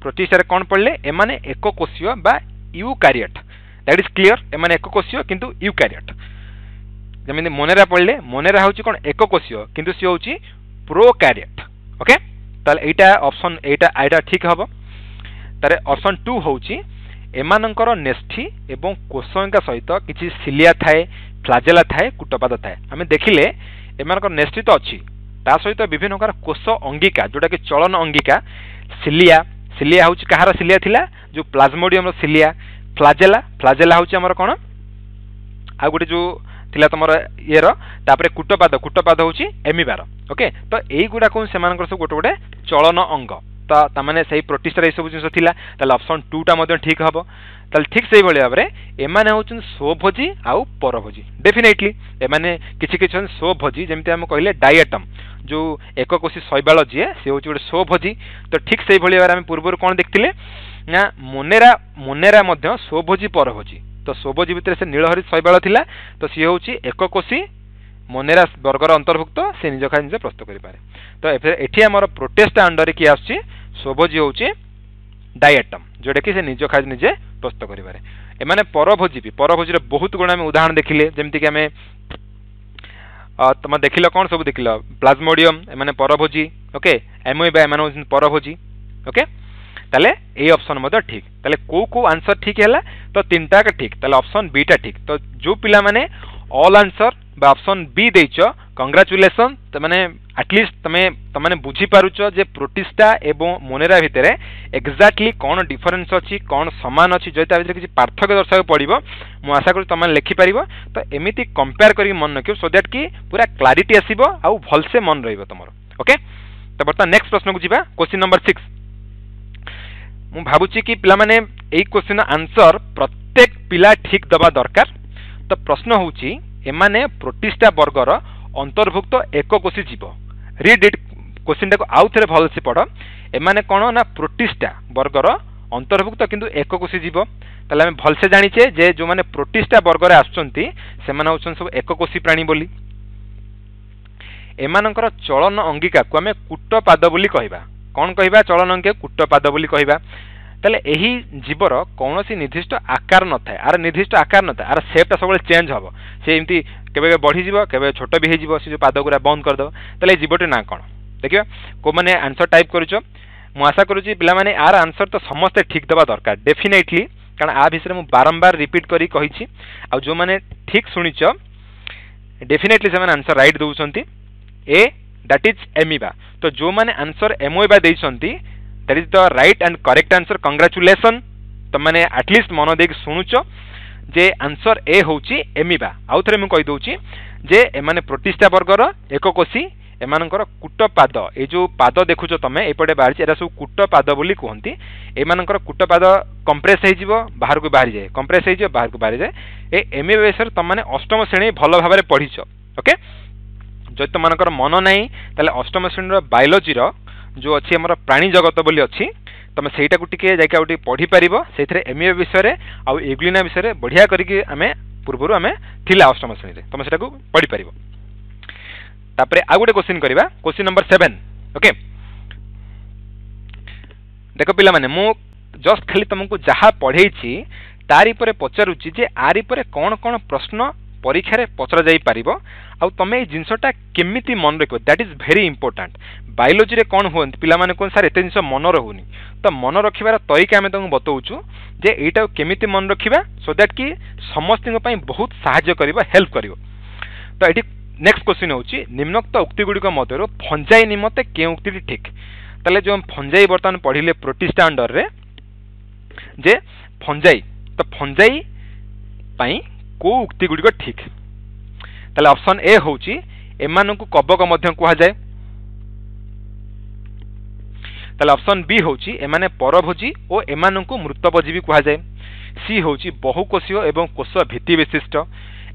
ପ୍ରୋଟିଷ୍ଟାରେ କ'ଣ ପଢ଼ିଲେ? ଏମାନେ ଏକକୋଷୀୟ ବା ୟୁକାରିୟଟ୍। That is clear. ଏମାନେ ଏକକୋଷୀୟ କିନ୍ତୁ ୟୁକାରିୟଟ୍। ଯେମିତି ମୋନେରା ପଢ଼ିଲେ, ମୋନେରା ହେଉଛି କ'ଣ? ଏକକୋଷୀୟ, କିନ୍ତୁ ସିଏ ହେଉଛି ପ୍ରୋକାରିୟଟ୍। ଓକେ, ତାହେଲେ ଏଇଟା ଅପସନ୍ ଏଇଟା ଏଇଟା ଠିକ୍ ହେବ। ତାର ଅପସନ୍ ଟୁ ହେଉଛି ଏମାନଙ୍କର ନ୍ୟଷ୍ଟି ଏବଂ କୋଷଅଙ୍ଗିକା ସହିତ କିଛି ସିଲିଆ ଥାଏ, ଫ୍ଲାଜେଲା ଥାଏ, କୁଟପାଦ ଥାଏ। ଆମେ ଦେଖିଲେ ଏମାନଙ୍କର ନ୍ୟଷ୍ଟି ତ ଅଛି, ତା ସହିତ ବିଭିନ୍ନ ପ୍ରକାର କୋଷ ଅଙ୍ଗିକା, ଯେଉଁଟାକି ଚଳନ ଅଙ୍ଗିକା, ସିଲିଆ। ସିଲିଆ ହେଉଛି କାହାର ସିଲିଆ ଥିଲା? ଯେଉଁ ପ୍ଲାଜମୋଡିୟମର ସିଲିଆ। ଫ୍ଲାଜେଲା, ଫ୍ଲାଜେଲା ହେଉଛି ଆମର କ'ଣ ଆଉ ଗୋଟେ ଯେଉଁ ଥିଲା ତମର ଇଏର। ତାପରେ କୁଟପାଦ, କୁଟପାଦ ହେଉଛି ଏମିବାର। ଓକେ, ତ ଏଇଗୁଡ଼ାକ ସେମାନଙ୍କର ସବୁ ଗୋଟେ ଗୋଟେ ଚଳନ ଅଙ୍ଗ। ତ ତାମାନେ ସେଇ ପ୍ରୋଟିଷ୍ଟାରେ ଏଇସବୁ ଜିନିଷ ଥିଲା। ତାହେଲେ ଅପସନ୍ ଟୁଟା ମଧ୍ୟ ଠିକ୍ ହେବ। ତାହେଲେ ଠିକ୍ ସେଇଭଳି ଭାବରେ ଏମାନେ ହେଉଛନ୍ତି ସ୍ୱଭୋଜୀ ଆଉ ପରଭୋଜୀ। ଡେଫିନେଟଲି ଏମାନେ କିଛି କିଛି ଅଛନ୍ତି ସ୍ୱଭୋଜୀ, ଯେମିତି ଆମେ କହିଲେ ଡାଇଆଟମ୍, ଯେଉଁ ଏକକୋଷୀ ଶୈବାଳ ଯିଏ, ସେ ହେଉଛି ଗୋଟେ ସ୍ୱଭୋଜୀ। ତ ଠିକ୍ ସେଇଭଳି ଭାବରେ ଆମେ ପୂର୍ବରୁ କ'ଣ ଦେଖିଥିଲେ ନା ମୋନେରା, ମୋନେରା ମଧ୍ୟ ସ୍ୱଭୋଜୀ ପରଭୋଜୀ। ତ ସ୍ୱଭୋଜୀ ଭିତରେ ସେ ନୀଳହରିତ ଶୈବାଳ ଥିଲା। ତ ସିଏ ହେଉଛି ଏକକୋଷୀ, ମୋନେରା ବର୍ଗର ଅନ୍ତର୍ଭୁକ୍ତ, ସେ ନିଜ ଖାଦ୍ୟ ନିଜେ ପ୍ରସ୍ତୁତ କରିପାରେ। ତ ଏଠି ଆମର ପ୍ରୋଟିଷ୍ଟା ଅଣ୍ଡରରେ କିଏ ଆସୁଛି? ସ୍ୱଭୋଜୀ ହେଉଛି ଡାଇଆଟମ୍, ଯେଉଁଟାକି ସେ ନିଜ ଖାଦ୍ୟ ନିଜେ ପ୍ରସ୍ତୁତ କରିପାରେ। ଏମାନେ ପରଭୋଜୀ ବି। ପରଭୋଜୀର ବହୁତ ଗୁଣ ଆମେ ଉଦାହରଣ ଦେଖିଲେ, ଯେମିତିକି ଆମେ ତମେ ଦେଖିଲ କ'ଣ ସବୁ ଦେଖିଲ? ପ୍ଲାଜମୋଡିୟମ, ଏମାନେ ପରଭୋଜୀ। ଓକେ, ଏମୋଇବା, ଏମାନେ ହେଉଛନ୍ତି ପରଭୋଜୀ। ଓକେ, ତାହେଲେ ଏଇ ଅପସନ୍ ମଧ୍ୟ ଠିକ୍। ତାହେଲେ କେଉଁ କେଉଁ ଆନ୍ସର ଠିକ୍ ହେଲା? ତ ତିନିଟା ଠିକ୍। ତାହେଲେ ଅପସନ୍ ବିଟା ଠିକ୍। ତ ଯେଉଁ ପିଲାମାନେ ଅଲ୍ ଆନ୍ସର ବା ଅପସନ୍ ବି ଦେଇଛ, କଂଗ୍ରାଚୁଲେସନ୍। ମାନେ ଆଟଲିଷ୍ଟ ତମେ ତମେ ବୁଝିପାରୁଛ ଯେ ପ୍ରୋଟିଷ୍ଟା ଏବଂ ମୋନେରା ଭିତରେ ଏକ୍ଜାକ୍ଟଲି କ'ଣ ଡିଫରେନ୍ସ ଅଛି, କ'ଣ ସମାନ ଅଛି। ଯଦି ତା ଭିତରେ କିଛି ପାର୍ଥକ୍ୟ ଦର୍ଶାଇବାକୁ ପଡ଼ିବ, ମୁଁ ଆଶା କରୁଛି ତମେ ଲେଖିପାରିବ। ତ ଏମିତି କମ୍ପେୟାର କରିକି ମନେ ରଖିବ, ସୋ that କି ପୁରା କ୍ଲାରିଟି ଆସିବ ଆଉ ଭଲସେ ମନେ ରହିବ ତମର। ଓକେ, ତ ବର୍ତ୍ତମାନ ନେକ୍ସଟ ପ୍ରଶ୍ନକୁ ଯିବା, କ୍ୱେଶ୍ଚିନ୍ ନମ୍ବର ସିକ୍ସ। ମୁଁ ଭାବୁଛି କି ପିଲାମାନେ, ଏଇ କ୍ୱେଶ୍ଚିନ୍ର ଆନ୍ସର ପ୍ରତ୍ୟେକ ପିଲା ଠିକ୍ ଦେବା ଦରକାର। ତ ପ୍ରଶ୍ନ ହେଉଛି, ଏମାନେ ପ୍ରୋଟିଷ୍ଟା ବର୍ଗର ଅନ୍ତର୍ଭୁକ୍ତ ଏକକୋଷୀ ଜୀବ। ରିଡ୍ ଇଟ୍, କ୍ୱେଶ୍ଚିନ୍ଟାକୁ ଆଉ ଥରେ ଭଲସେ ପଢ଼। ଏମାନେ କ'ଣ ନା ପ୍ରୋଟିଷ୍ଟା ବର୍ଗର ଅନ୍ତର୍ଭୁକ୍ତ କିନ୍ତୁ ଏକକୋଷୀ ଜୀବ। ତାହେଲେ ଆମେ ଭଲସେ ଜାଣିଛେ ଯେ ଯେଉଁମାନେ ପ୍ରୋଟିଷ୍ଟା ବର୍ଗରେ ଆସୁଛନ୍ତି, ସେମାନେ ହେଉଛନ୍ତି ସବୁ ଏକକୋଷୀ ପ୍ରାଣୀ ବୋଲି। ଏମାନଙ୍କର ଚଳନ ଅଙ୍ଗିକାକୁ ଆମେ କୁଟପାଦ ବୋଲି କହିବା। କ'ଣ କହିବା? ଚଳନ ଅଙ୍ଗିକା କୁଟପାଦ ବୋଲି କହିବା। ତାହେଲେ ଏହି ଜୀବର କୌଣସି ନିର୍ଦ୍ଦିଷ୍ଟ ଆକାର ନଥାଏ। ଆର ନିର୍ଦ୍ଦିଷ୍ଟ ଆକାର ନଥାଏ, ଆର ସେପ୍ଟା ସବୁବେଳେ ଚେଞ୍ଜ ହେବ। ସେ ଏମିତି କେବେ କେବେ ବଢ଼ିଯିବ, କେବେ ଛୋଟ ବି ହେଇଯିବ, ସେ ଯେଉଁ ପାଦ ଗୁଡ଼ା ବନ୍ଦ କରିଦେବ। ତାହେଲେ ଏଇ ଜୀବଟି ନାଁ କ'ଣ? ଦେଖିବା କେଉଁମାନେ ଆନ୍ସର ଟାଇପ୍ କରୁଛ। ମୁଁ ଆଶା କରୁଛି ପିଲାମାନେ, ଆର ଆନ୍ସର ତ ସମସ୍ତେ ଠିକ୍ ଦେବା ଦରକାର ଡେଫିନେଟଲି, କାରଣ ଆ ବିଷୟରେ ମୁଁ ବାରମ୍ବାର ରିପିଟ୍ କରି କହିଛି। ଆଉ ଯେଉଁମାନେ ଠିକ୍ ଶୁଣିଛ, ଡେଫିନେଟଲି ସେମାନେ ଆନ୍ସର ରାଇଟ୍ ଦେଉଛନ୍ତି। ଏ, that is ଏମିବା। ତ ଯେଉଁମାନେ ଆନ୍ସର ଏମୋଇବା ଦେଇଛନ୍ତି, that is the right and correct answer. Congratulation. ତମମାନେ ଆଟଲିଷ୍ଟ ମନ ଦେଇକି ଶୁଣୁଛ ଯେ ଆନ୍ସର ଏ ହେଉଛି ଏମିବା। ଆଉ ଥରେ ମୁଁ କହିଦେଉଛି ଯେ ଏମାନେ ପ୍ରୋଟିଷ୍ଟା ବର୍ଗର ଏକକୋଷୀ। ଏମାନଙ୍କର କୂଟପାଦ, ଏଇ ଯେଉଁ ପାଦ ଦେଖୁଛ ତମେ ଏପଟେ ବାହାରିଛି, ଏଟା ସବୁ କୂଟପାଦ ବୋଲି କୁହନ୍ତି। ଏମାନଙ୍କର କୂଟପାଦ କମ୍ପ୍ରେସ୍ ହେଇଯିବ, ବାହାରକୁ ବାହାରିଯାଏ, କମ୍ପ୍ରେସ୍ ହେଇଯିବ, ବାହାରକୁ ବାହାରିଯାଏ। ଏ ଏମିବା ବିଷୟରେ ତମମାନେ ଅଷ୍ଟମ ଶ୍ରେଣୀ ଭଲ ଭାବରେ ପଢ଼ିଛ। ଓକେ, ଯଦି ତମମାନଙ୍କର ମନ ନାହିଁ ତାହେଲେ ଅଷ୍ଟମ ଶ୍ରେଣୀର ବାୟୋଲୋଜିର ଯେଉଁ ଅଛି ଆମର ପ୍ରାଣୀ ଜଗତ ବୋଲି ଅଛି, ତମେ ସେଇଟାକୁ ଟିକେ ଯାଇକି ଆଉ ଟିକେ ପଢ଼ିପାରିବ। ସେଇଥିରେ ଏମିବା ବିଷୟରେ ଆଉ ଏଗ୍ଲିନା ବିଷୟରେ ବଢ଼ିଆ କରିକି ଆମେ ପୂର୍ବରୁ ଆମେ ଥିଲା ଅଷ୍ଟମ ଶ୍ରେଣୀରେ, ତମେ ସେଟାକୁ ପଢ଼ିପାରିବ। ତାପରେ ଆଉ ଗୋଟେ କୋଶ୍ଚିନ୍ କରିବା, କୋଶ୍ଚିନ୍ ନମ୍ବର ସେଭେନ୍। ଓକେ, ଦେଖ ପିଲାମାନେ, ମୁଁ ଜଷ୍ଟ ଖାଲି ତମକୁ ଯାହା ପଢ଼େଇଛି ତାରି ଉପରେ ପଚାରୁଛି ଯେ ଆରି ଉପରେ କ'ଣ କ'ଣ ପ୍ରଶ୍ନ ପରୀକ୍ଷାରେ ପଚରା ଯାଇପାରିବ ଆଉ ତମେ ଏଇ ଜିନିଷଟା କେମିତି ମନେ ରଖିବ। That is very important. ବାୟୋଲୋଜିରେ କ'ଣ ହୁଅନ୍ତି ପିଲାମାନେ କୁହନ୍ତି ସାର୍ ଏତେ ଜିନିଷ ମନେ ରହୁନି, ତ ମନେ ରଖିବାର ତରିକା ଆମେ ତମକୁ ବତଉଛୁ ଯେ ଏଇଟାକୁ କେମିତି ମନେ ରଖିବା ସୋ that କି ସମସ୍ତଙ୍କ ପାଇଁ ବହୁତ ସାହାଯ୍ୟ କରିବ, ହେଲ୍ପ କରିବ। ତ ଏଠି ନେକ୍ସଟ କ୍ୱେଶ୍ଚିନ୍ ହେଉଛି ନିମ୍ନୋକ୍ତ ଉକ୍ତି ଗୁଡ଼ିକ ମଧ୍ୟରୁ ଫଞ୍ଜାଇ ନିମନ୍ତେ କେଉଁ ଉକ୍ତିଟି ଠିକ୍? ତାହେଲେ ଯେଉଁ ଫଞ୍ଜାଇ ବର୍ତ୍ତମାନ ପଢ଼ିଲେ ପ୍ରୋଟିଷ୍ଟା ଅଣ୍ଡରରେ ଯେ ଫଞ୍ଜାଇ, ତ ଫଞ୍ଜାଇ ପାଇଁ କେଉଁ ଉକ୍ତି ଗୁଡ଼ିକ ଠିକ୍? ତାହେଲେ ଅପସନ୍ ଏ ହେଉଛି ଏମାନଙ୍କୁ କବକ ମଧ୍ୟ କୁହାଯାଏ। ତାହେଲେ ଅପସନ୍ ବି ହେଉଛି ଏମାନେ ପରଭୋଜୀ ଓ ଏମାନଙ୍କୁ ମୃତପଜୀବୀ କୁହାଯାଏ। ସି ହେଉଛି ବହୁକୋଷୀୟ ଏବଂ କୋଷ ଭିତ୍ତି ବିଶିଷ୍ଟ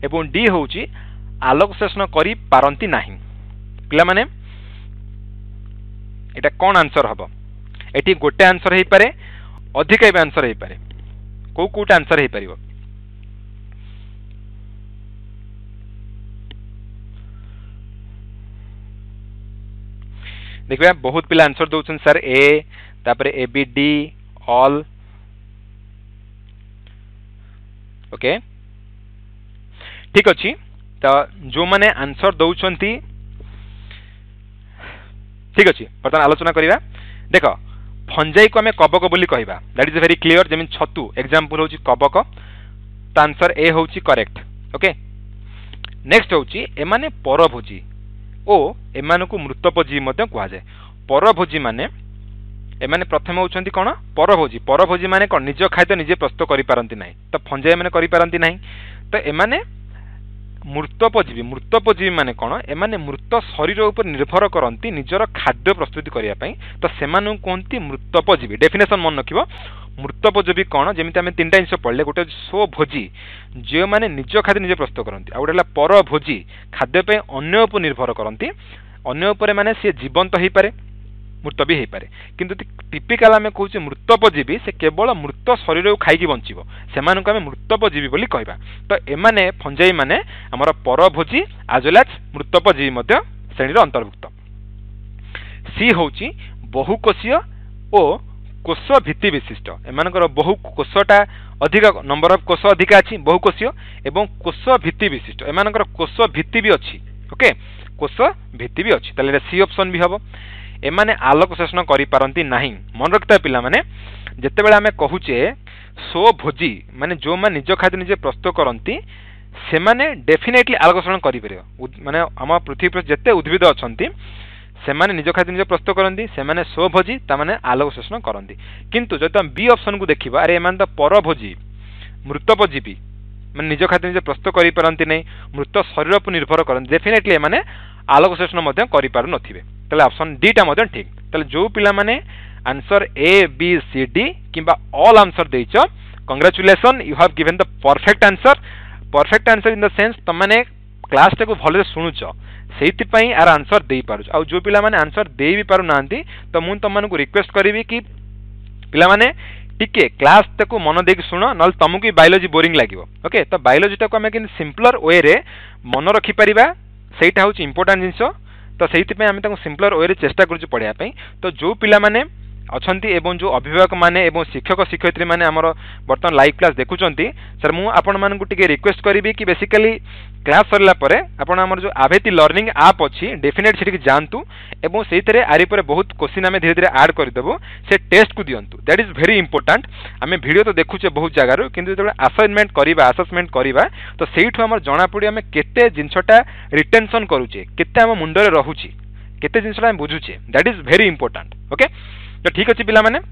ଏବଂ ଡି ହେଉଛି ଆଲୋକ ଶୋଷଣ କରିପାରନ୍ତି ନାହିଁ। ପିଲାମାନେ ଏଇଟା କ'ଣ ଆନ୍ସର ହେବ? ଏଠି ଗୋଟେ ଆନ୍ସର ହେଇପାରେ, ଅଧିକା ବି ଆନ୍ସର ହେଇପାରେ। କେଉଁ କେଉଁଟା ଆନ୍ସର ହେଇପାରିବ? ଦେଖିବା ବହୁତ ପିଲା ଆନ୍ସର ଦେଉଛନ୍ତି ସାର୍ ଏ, ତାପରେ ଏ ବି ଡି ଅଲ୍। ଓକେ, ଠିକ୍ ଅଛି। ତ ଯେଉଁମାନେ ଆନ୍ସର ଦେଉଛନ୍ତି ଠିକ୍ ଅଛି, ବର୍ତ୍ତମାନ ଆଲୋଚନା କରିବା। ଦେଖ ଫଞ୍ଜାଇକୁ ଆମେ କବକ ବୋଲି କହିବା, that is very clear. ଯେମିତି ଛତୁ ଏକ୍ଜାମ୍ପଲ୍ ହେଉଛି କବକ, ତ ଆନ୍ସର ଏ ହେଉଛି କରେକ୍ଟ। ଓକେ, ନେକ୍ସଟ ହେଉଛି ଏମାନେ ପରଭୋଜୀ ଓ ଏମାନଙ୍କୁ ମୃତପଜୀବୀ ମଧ୍ୟ କୁହାଯାଏ। ପରଭୋଜୀ ମାନେ ଏମାନେ ପ୍ରଥମେ ହେଉଛନ୍ତି କ'ଣ? ପରଭୋଜୀ। ପରଭୋଜୀ ମାନେ କ'ଣ? ନିଜ ଖାଦ୍ୟ ନିଜେ ପ୍ରସ୍ତୁତ କରିପାରନ୍ତି ନାହିଁ, ତ ଫଞ୍ଜାଇ ମାନେ କରିପାରନ୍ତି ନାହିଁ। ତ ଏମାନେ ମୃତପଜୀବୀ। ମୃତପଜୀବୀ ମାନେ କ'ଣ? ଏମାନେ ମୃତ ଶରୀର ଉପରେ ନିର୍ଭର କରନ୍ତି ନିଜର ଖାଦ୍ୟ ପ୍ରସ୍ତୁତି କରିବା ପାଇଁ, ତ ସେମାନଙ୍କୁ କୁହନ୍ତି ମୃତପଜୀବୀ। ଡେଫିନେସନ୍ ମନେ ରଖିବ, ମୃତପଜୀବୀ କ'ଣ? ଯେମିତି ଆମେ ତିନିଟା ଜିନିଷ ପଢ଼ିଲେ, ଗୋଟେ ହେଉଛି ସ୍ୱଭୋଜୀ, ଯେଉଁମାନେ ନିଜ ଖାଦ୍ୟ ନିଜେ ପ୍ରସ୍ତୁତ କରନ୍ତି, ଆଉ ଗୋଟେ ହେଲା ପରଭୋଜୀ, ଖାଦ୍ୟ ପାଇଁ ଅନ୍ୟ ଉପରେ ନିର୍ଭର କରନ୍ତି। ଅନ୍ୟ ଉପରେ ମାନେ ସିଏ ଜୀବନ୍ତ ହେଇପାରେ, ମୃତ ବି ହେଇପାରେ, କିନ୍ତୁ ଟିପିକାଲ ଆମେ କହୁଛେ ମୃତପଜୀବୀ, ସେ କେବଳ ମୃତ ଶରୀରକୁ ଖାଇକି ବଞ୍ଚିବ, ସେମାନଙ୍କୁ ଆମେ ମୃତପଜୀବୀ ବୋଲି କହିବା। ତ ଏମାନେ ଫଞ୍ଜାଇ ମାନେ ଆମର ପରଭୋଜୀ ଆଜ୍ ୱେଲ୍ ଆଜ୍ ମୃତପଜୀବୀ ମଧ୍ୟ ଶ୍ରେଣୀର ଅନ୍ତର୍ଭୁକ୍ତ। ସି ହେଉଛି ବହୁକୋଷୀୟ ଓ କୋଷ ଭିତ୍ତି ବିଶିଷ୍ଟ। ଏମାନଙ୍କର ବହୁ କୋଷଟା ଅଧିକ, ନମ୍ବର ଅଫ୍ କୋଷ ଅଧିକା ଅଛି, ବହୁକୋଷୀୟ ଏବଂ କୋଷ ଭିତ୍ତି ବିଶିଷ୍ଟ। ଏମାନଙ୍କର କୋଷ ଭିତ୍ତି ବି ଅଛି। ଓକେ, କୋଷ ଭିତ୍ତି ବି ଅଛି, ତାହେଲେ ଏଇଟା ସି ଅପସନ୍ ବି ହେବ। ଏମାନେ ଆଲୋକ ଶୋଷଣ କରିପାରନ୍ତି ନାହିଁ। ମନେ ରଖିଥିବା ପିଲାମାନେ, ଯେତେବେଳେ ଆମେ କହୁଛେ ସ୍ୱଭୋଜୀ ମାନେ ଯେଉଁମାନେ ନିଜ ଖାଦ୍ୟ ନିଜେ ପ୍ରସ୍ତୁତ କରନ୍ତି, ସେମାନେ ଡେଫିନେଟଲି ଆଲୋକ ଶୋଷଣ କରିପାରିବେ। ମାନେ ଆମ ପୃଥିବୀ ପୃଷ୍ଠରେ ଯେତେ ଉଦ୍ଭିଦ ଅଛନ୍ତି ସେମାନେ ନିଜ ଖାଦ୍ୟ ନିଜେ ପ୍ରସ୍ତୁତ କରନ୍ତି, ସେମାନେ ସ୍ୱଭୋଜୀ, ତାମାନେ ଆଲୋକ ଶୋଷଣ କରନ୍ତି। କିନ୍ତୁ ଯଦି ଆମେ ବି ଅପସନ୍କୁ ଦେଖିବା, ଆରେ ଏମାନେ ତ ପରଭୋଜୀ, ମୃତପଜୀବୀ, ମାନେ ନିଜ ଖାଦ୍ୟ ନିଜେ ପ୍ରସ୍ତୁତ କରିପାରନ୍ତି ନାହିଁ, ମୃତ ଶରୀର ଉପରେ ନିର୍ଭର କରନ୍ତି, ଡେଫିନେଟଲି ଏମାନେ ଆଲୋକ ଶୋଷଣ ମଧ୍ୟ କରିପାରୁନଥିବେ। ତାହେଲେ ଅପସନ୍ ଡିଟା ମଧ୍ୟ ଠିକ୍। ତାହେଲେ ଯେଉଁ ପିଲାମାନେ answer A B C D କିମ୍ବା ଅଲ୍ ଆନ୍ସର ଦେଇଛ, congratulation, you have given the perfect answer. Perfect answer in the sense ତମେମାନେ କ୍ଲାସ୍ଟାକୁ ଭଲରେ ଶୁଣୁଛ, ସେଇଥିପାଇଁ ଆର ଆନ୍ସର ଦେଇପାରୁଛ। ଆଉ ଯେଉଁ ପିଲାମାନେ ଆନ୍ସର ଦେଇ ବି ପାରୁନାହାନ୍ତି, ତ ମୁଁ ତମମାନଙ୍କୁ ରିକ୍ୱେଷ୍ଟ କରିବି କି ପିଲାମାନେ ଟିକେ କ୍ଲାସ୍ଟାକୁ ମନ ଦେଇକି ଶୁଣ, ନହେଲେ ତମକୁ ବି ବାୟୋଲୋଜି ବୋରିଂ ଲାଗିବ। ଓକେ, ତ ବାୟୋଲୋଜିଟାକୁ ଆମେ କେମିତି ସିମ୍ପଲର ୱେରେ ମନେ ରଖିପାରିବା ସେଇଟା ହେଉଛି ଇମ୍ପୋର୍ଟାଣ୍ଟ ଜିନିଷ। ତ ସେଇଥିପାଇଁ ଆମେ ତାଙ୍କୁ ସିମ୍ପଲର ୱେରେ ଚେଷ୍ଟା କରୁଛୁ ପଢ଼ିବା ପାଇଁ। ତ ଯେଉଁ ପିଲାମାନେ ଅଛନ୍ତି ଏବଂ ଯେଉଁ ଅଭିଭାବକମାନେ ଏବଂ ଶିକ୍ଷକ ଶିକ୍ଷୟିତ୍ରୀମାନେ ଆମର ବର୍ତ୍ତମାନ ଲାଇଭ୍ କ୍ଲାସ୍ ଦେଖୁଛନ୍ତି, ସାର୍ ମୁଁ ଆପଣମାନଙ୍କୁ ଟିକେ ରିକ୍ୱେଷ୍ଟ କରିବି କି ବେସିକାଲି କ୍ଲାସ୍ ସରିଲା ପରେ ଆପଣ ଆମର ଯେଉଁ ଆଭେତି ଲର୍ଣ୍ଣିଂ ଆପ୍ ଅଛି, ଡେଫିନେଟ୍ ସେଠିକି ଯାଆନ୍ତୁ ଏବଂ ସେଇଥିରେ ଆରି ପରେ ବହୁତ କୋଶ୍ଚିନ୍ ଆମେ ଧୀରେ ଧୀରେ ଆଡ଼୍ କରିଦେବୁ, ସେ ଟେଷ୍ଟକୁ ଦିଅନ୍ତୁ। That is very important. ଆମେ ଭିଡ଼ିଓ ତ ଦେଖୁଛେ ବହୁତ ଜାଗାରୁ, କିନ୍ତୁ ଯେତେବେଳେ ଆସାଇନମେଣ୍ଟ କରିବା, ଆସେସମେଣ୍ଟ କରିବା, ତ ସେଇଠୁ ଆମର ଜଣାପଡ଼ିବ ଆମେ କେତେ ଜିନିଷଟା ରିଟେନସନ୍ କରୁଛେ, କେତେ ଆମ ମୁଣ୍ଡରେ ରହୁଛି, କେତେ ଜିନିଷଟା ଆମେ ବୁଝୁଛେ। That is very important. Okay, ତ ଠିକ୍ ଅଛି ପିଲାମାନେ,